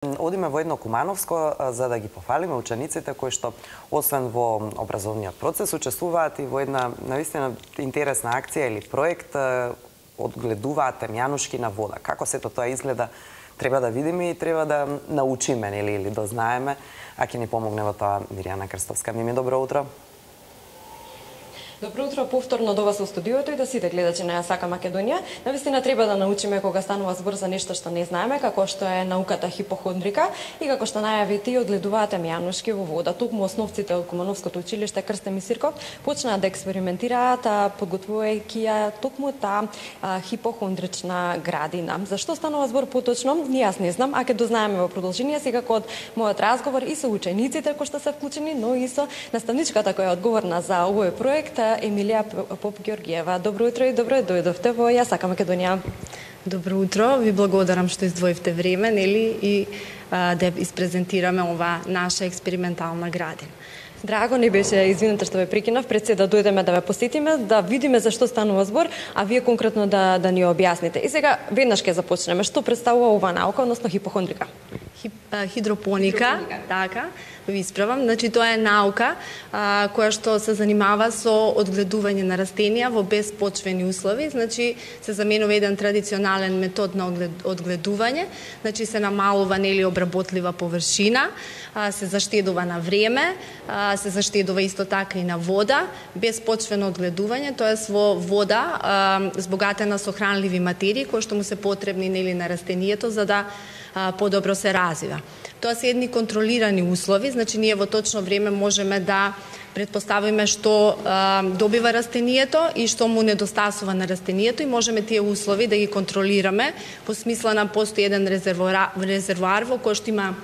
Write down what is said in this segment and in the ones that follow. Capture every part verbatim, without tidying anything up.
Одиме во едно Кумановско за да ги пофалиме учениците кои што освен во образовниот процес учествуваат и во една навистина интересна акција или проект, одгледуваат темјанушки на вода. Како сето тоа изгледа треба да видиме и треба да научиме или или дознаеме, а ќе ни помогне во тоа Миријана Крстовска. Мими, добро утро. Добро утро повторно до вас во студиото и до сите гледачи на Сака Македонија. Навистина треба да научиме кога станува збор за нешто што не знаеме, како што е науката хипохондрика и како што најави ти одгледуваат темјанушки во вода. Токму основците од Кумановското училиште Крстен Мисирков почнаа да експериментираат, подготвувајќи ја токму таа хипохондрична градина. Зашто станува збор поточно? Ни јас не знам, а ќе дознаеме во продолжение секако од мојот разговор и со учениците кои што се вклучени, но и со наставничката која е одговорна за овој проект, Емилија Поп-Ѓоргиева. Добро утро и добро дојдовте во Ја Сака Македонија. Добро утро, ви благодарам што издвоивте време, нели, и а, да испрезентираме ова наша експериментална градина. Драго ни беше, извинете што ве прекинав, пред се да дојдеме да ве посетиме, да видиме за што станува збор, а вие конкретно да да ни објасните. И сега веднаш ќе започнеме. Што представува оваа наука, односно хипохондрика? Хип, а, хидропоника, хидропоника, така, ви исправам. Значи тоа е наука а, која што се занимава со одгледување на растенија во безпочвени услови. Значи се заменува еден традиционален метод на одгледување, значи се намалува нели обработлива површина, а, се заштедува на време, а, се заштедува исто така и на вода, безпочвено одгледување, тоест во вода а, збогатена со хранливи материи кои што му се потребни нели на растението за да подобро се развива. Тоа се едни контролирани услови, значи ние во точно време можеме да предпоставиме што а, добива растението и што му недостасува на растението и можеме тие услови да ги контролираме по смисла на постои еден резервоар, резервоар во кој што има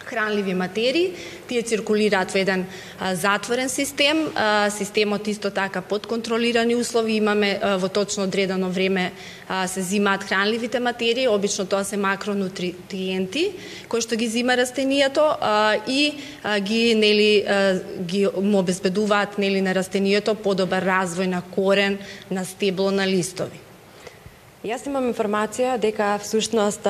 хранливи материи, тие циркулираат во еден а, затворен систем, а, системот исто така под контролирани услови, имаме а, во точно одредено време а, се зимаат хранливите материи, обично тоа се макронутриенти, кои што ги зима растението а, и а, ги нели а, ги му обезбедуваат нели на растението подобар развој на корен, на стебло, на листови. Јас имам информација дека всушност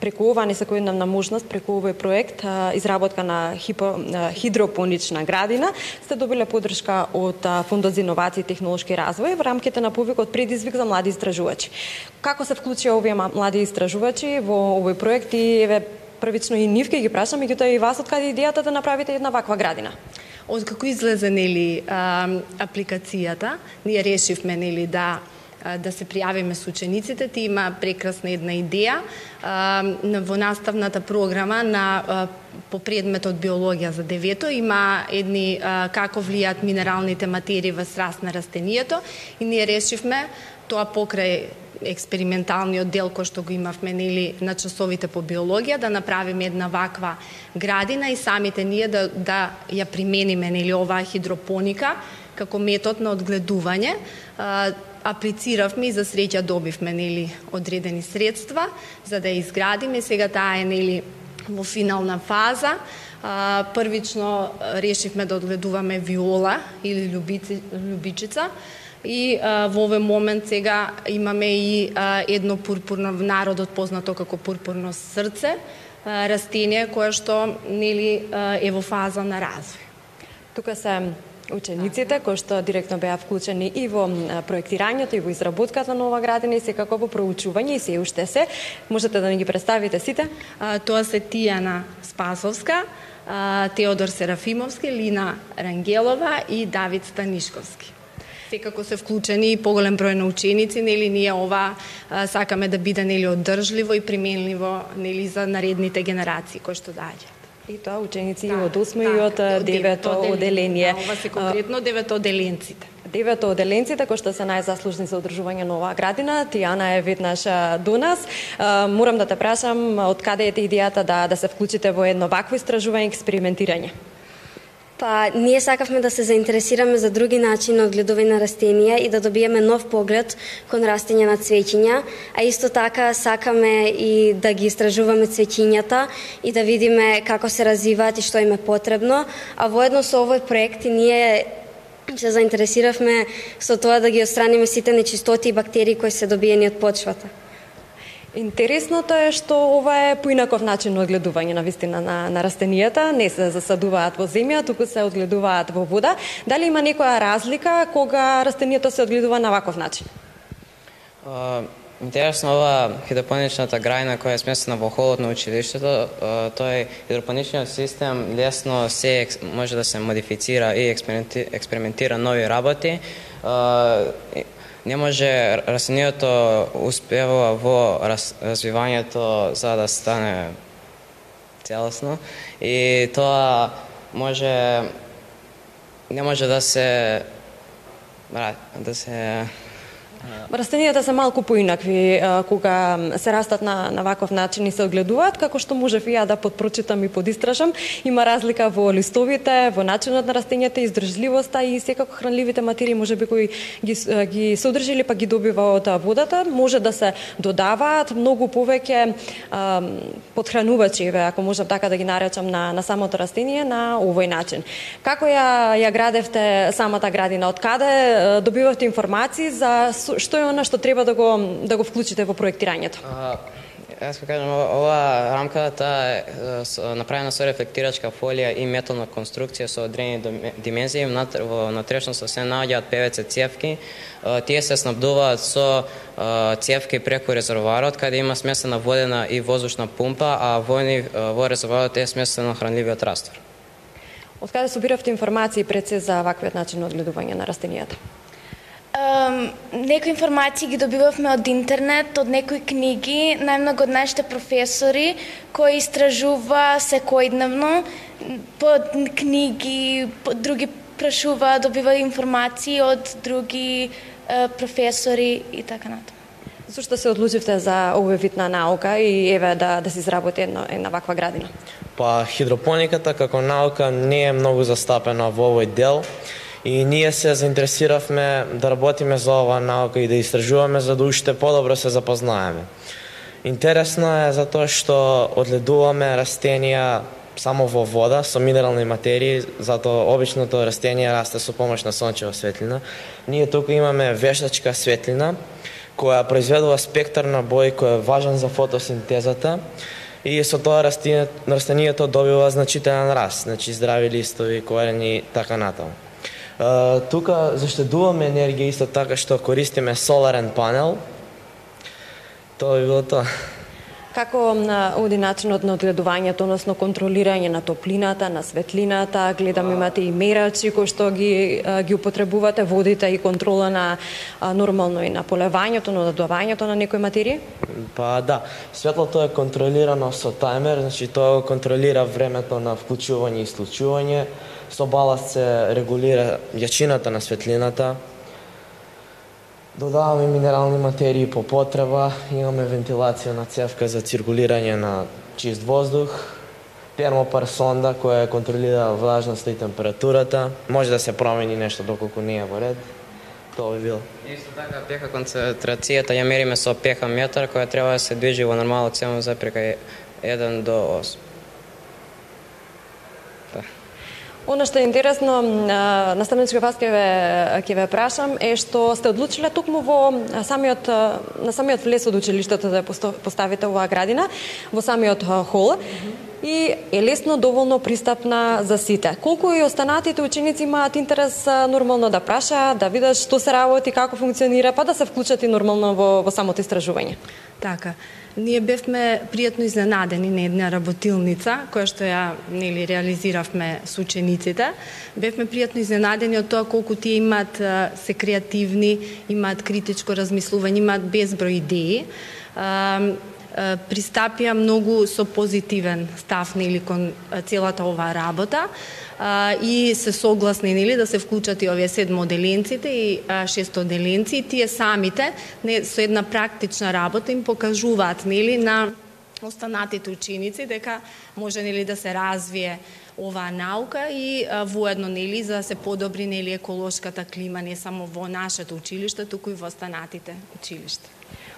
преку ова несекојдневна можност, преку овој проект изработка на хипо, хидропонична градина сте добиле поддршка од Фондот за иновации и технолошки развој во рамките на повикот Предизвик за млади истражувачи. Како се вклучија овие млади истражувачи во овој проект и еве првично и нив ќе ги прашам, меѓутоа и вас откаде идејата да направите една ваква градина? Од како излезе нели апликацијата, ние решивме нели да да се пријавиме со учениците. Ти има прекрасна една идеја во наставната програма на по предметот биологија за девето има едни како влијаат минералните материи во раст на растението и ние решивме тоа покрај експерименталниот дел кој што го имавме нели на часовите по биологија да направиме една ваква градина и самите ние да да ја примениме нели оваа хидропоника како метод на одгледување. Аплициравме и за среќа добивме нели одредени средства за да ја изградиме. Сега таа е нели во финална фаза. А, првично решивме да одгледуваме виола или љубици, љубичица и а, во овој момент сега имаме и а, едно пурпурно, в народот познато како пурпурно срце, а, растение кое што нели а, е во фаза на развој. Тука се учениците кои што директно беа вклучени и во проектирањето и во изработката на оваа градина и секако во проучување и се уште се. Можете да ни ги представите сите? А, тоа се Тијана Спасовска, а, Теодор Серафимовски, Лина Рангелова и Давид Станишковски. Секако се вклучени и поголем број на ученици, нели ние ова а, сакаме да биде нели одржливо и применливо нели за наредните генерации кои што доаѓаат. И тоа ученици да, од осмо да, и од девето оделение. Да, ова се конкретно девето оделенците. Девето оделенците кои што се најзаслужни за одржување на оваа градина. Тијана е веднаш до нас. Морам да те прашам од каде е идејата да да се вклучите во едно вакво истражување, експериментирање? Па, ние сакавме да се заинтересираме за други начини на одгледување на растенија и да добиеме нов поглед кон растење на цвеќиња, а исто така сакаме и да ги истражуваме цвеќињата и да видиме како се развиваат и што им е потребно, а воедно со овој проект ние се заинтересиравме со тоа да ги отстраниме сите нечистоти и бактерии кои се добиени од почвата. Интересното е што ова е поинаков начин на одгледување на вистина на, на растенијата, не се засадуваат во земја, туку се одгледуваат во вода. Дали има некоја разлика кога растенијата се одгледува на ваков начин? Uh, интересно ова хидропоничната грајна која е сместена во холот на училиштето, uh, тој хидропоничниот систем лесно се може да се модифицира и експериментира нови работи. Uh, Не може растенијето успева во раз, развивањето за да стане целосно и тоа може не може да се да се Растенијата се малку поинакви кога се растат на, на ваков начин и се огледуваат, како што можев и ја да подпрочитам и подистражам. Има разлика во листовите, во начинот на растенијата, издржливоста и секако хранливите материи можеби кои ги, ги содржи или па ги добива од водата, може да се додаваат многу повеќе подхранувачи, ако можам така да ги наречам, на, на самото растение на овој начин. Како ја, ја градевте самата градина? Од каде добивавте информации за што е она што треба да го да го вклучите во проектирањето? А, јас ќе кажам, ова рамката е направена со рефлектирачка фолија и метална конструкција со одредени димензии. Во натрешноста се наоѓаат пе ве це цевки. Тие се снабдуваат со цевки преку резервоарот, каде има смесена водена и воздушна пумпа, а во, во резервоарот е смесено хранливиот раствор. Од каде собиравте информации пред се за ваквиот начин на одгледување на растенијата? Um, некои информации ги добивавме од интернет, од некои книги, најмногу од нашите професори кои истражува секојдневно по книги, по други прашува, добива информации од други uh, професори и така натаму. Зошто се одлучивте за овој вид на наука и еве да да се изработи една една ваква градина? Па хидропониката како наука не е многу застапена во овој дел. И ние се заинтересиравме да работиме за оваа наука и да истражуваме за да уште подобро се запознаеме. Интересно е затоа што одгледуваме растенија само во вода со минерални материи, затоа обичното растение расте со помош на сончева светлина. Ние тука имаме вештачка светлина која произведува спектар на бои кој е важен за фотосинтезата и со тоа растенијето, растенијето добива значителен раст, значи здрави листови, корени и така натаму. Uh, тука заштедуваме енергија исто така што користиме соларен панел. Тоа би било тоа. Како оди начинот на одгледувањето, односно контролирање на топлината, на светлината, гледам имате и мерачи кои што ги ги употребувате, водите и контрола на нормално и на полевањето, на додавањето на некои материи? Па да, светлото е контролирано со тајмер, значи тоа контролира времето на вклучување и исклучување. Со баласт се регулира јачината на светлината. Додаваме минерални материи по потреба, имаме вентилација на цевка за циркулирање на чист воздух, термопар сонда која контролира влажноста и температурата. Може да се промени нешто доколку не е во ред. Тоа би било. Исто така пеха концентрацијата ја мериме со пеха метар која треба да се движи во нормалот седум запирка еден до осум. Оно што е интересно, наставничка вас ќе ве ќе ве прашам е што сте одлучиле токму во самиот на самиот влез од училиштето да поставите оваа градина во самиот хол и е лесно доволно пристапна за сите. Колку и останатите ученици имаат интерес нормално да прашаат, да видат што се работи, како функционира, па да се вклучат и нормално во, во самото истражување. Така. Ние бевме пријатно изненадени на една работилница, која што ја нели реализиравме со учениците. Бевме пријатно изненадени од тоа колку тие имаат, се креативни, имаат критичко размислување, имаат безброј идеи. Пристапија многу со позитивен став нели кон целата оваа работа и се согласни нели да се вклучат и овие седмоделенците и шестоделенци, тие самите не, со една практична работа им покажуваат нели на останатите ученици дека може нели да се развие оваа наука и воедно нели за да се подобри нели еколошката клима не само во нашето училиште, туку и во останатите училишта.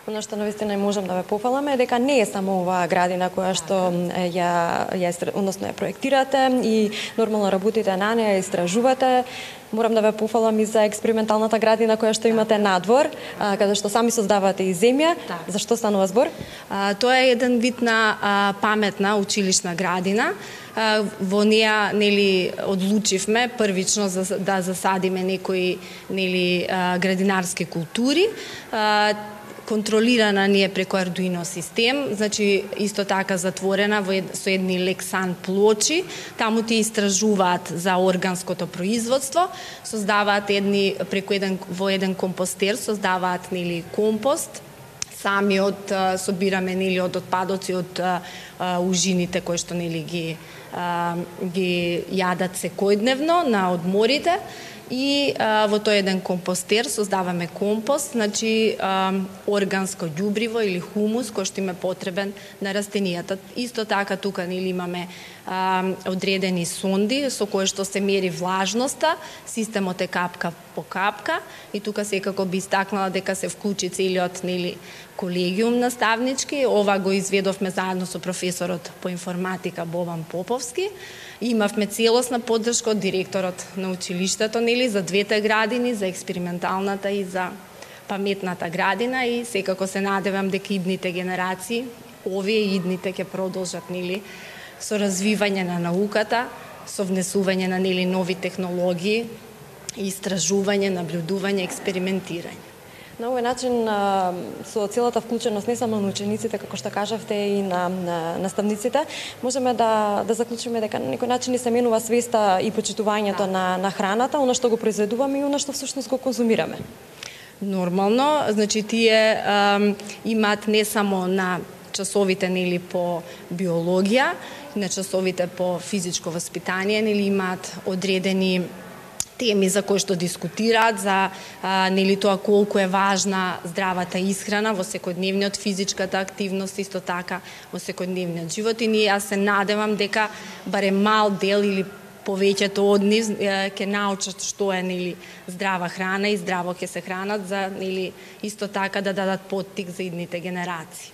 Оно што навистина можам да ве пофалам е дека не е само оваа градина која што ја ја односно ја проектирате и нормално работите на неа, истражувате. Морам да ве пофалам и за експерименталната градина која што имате надвор, а, каде што сами создавате и земја. Так. За што станува збор? А, тоа е еден вид на а, паметна училишна градина. А, во неа нели одлучивме првично за, да засадиме некои нели а, градинарски култури. А, контролирана ни е преку Arduino систем, значи исто така затворена во ед, со едни Lexan плочи, таму ти истражуваат за органското производство, создаваат едни преку еден во еден компостер, создаваат нели компост, сами од собираме нели од отпадоци од а, а, ужините кои што нели ги а, ги јадат секојдневно на одморите. И а, во тој еден компостер создаваме компост, значи а, органско ѓубриво или хумус кој што им е потребен на растенијата. Исто така тука нели имаме а, одредени сонди со кои што се мери влажноста, системот е капка по капка и тука секако би истакнала дека се вклучи целиот нели колегиум наставнички. Ова го изведовме заедно со професорот по информатика Бобан Поповски. Имавме целосна поддршка од директорот на училиштето нели за двете градини, за експерименталната и за паметната градина и секако се надевам дека идните генерации, овие идните ќе продолжат нели со развивање на науката, со внесување на нели нови технологии, истражување, наблюдување, експериментирање. На овој начин, со целата вклученост не само на учениците, како што кажавте, и на, на наставниците, можеме да, да заклучиме дека на некој начин ни се менува свеста и почитувањето на, на храната, оно што го произведуваме и оно што всушност го конзумираме. Нормално, значи тие ам, имаат не само на часовите нели по биологија, на часовите по физичко воспитание, нели имаат одредени теми за кои што дискутираат, за а, нели тоа колку е важна здравата исхрана во секојдневниот, физичката активност, исто така во секојдневниот живот. И ние јас се надевам дека барем мал дел или повеќето од нив ќе научат што е нели здрава храна и здраво ќе се хранат за нели исто така да дадат поттик за идните генерации.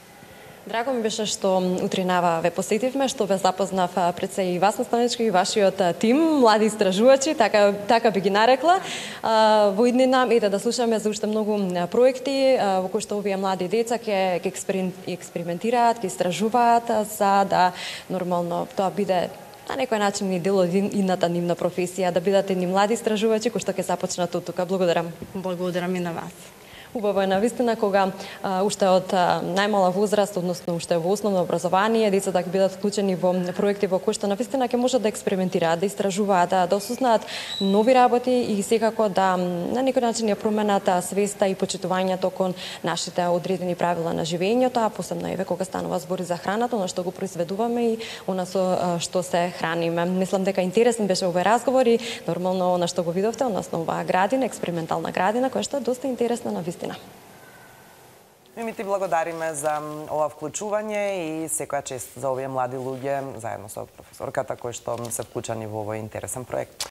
Драго ми беше што утринава ве посетивме, што ве запознав пред се и вас наставнички и вашиот тим, млади истражувачи, така така би ги нарекла. Во иднина ете да слушаме за уште многу проекти во кои што овие млади деца ќе ќе експериментираат, ќе истражуваат за да нормално тоа биде на некој начин и дел од идната нивна професија, да бидат едни млади истражувачи кои што ќе започнат од тука. Благодарам. Благодарам и на вас. Убаво е навистина кога а, уште од а, најмала возраст, односно уште во основно образование, децата ќе бидат вклучени во проекти во кои што навистина ќе можат да експериментираат, да истражуваат, да, да осознаат нови работи и секако да на некој начин ја променат свеста и почитувањето кон нашите одредени правила на живењето, а посебно еве кога станува збори за храната, она што го произведуваме и она со што се храниме. Мислам дека интересен беше овој разговор и нормално она што го видовте, односно оваа градина, експериментална градина, која што е доста интересна навистина. И ми ти благодариме за ова вклучување и секоја чест за овие млади луѓе заедно со професорката кои што се вклучени во овој интересен проект.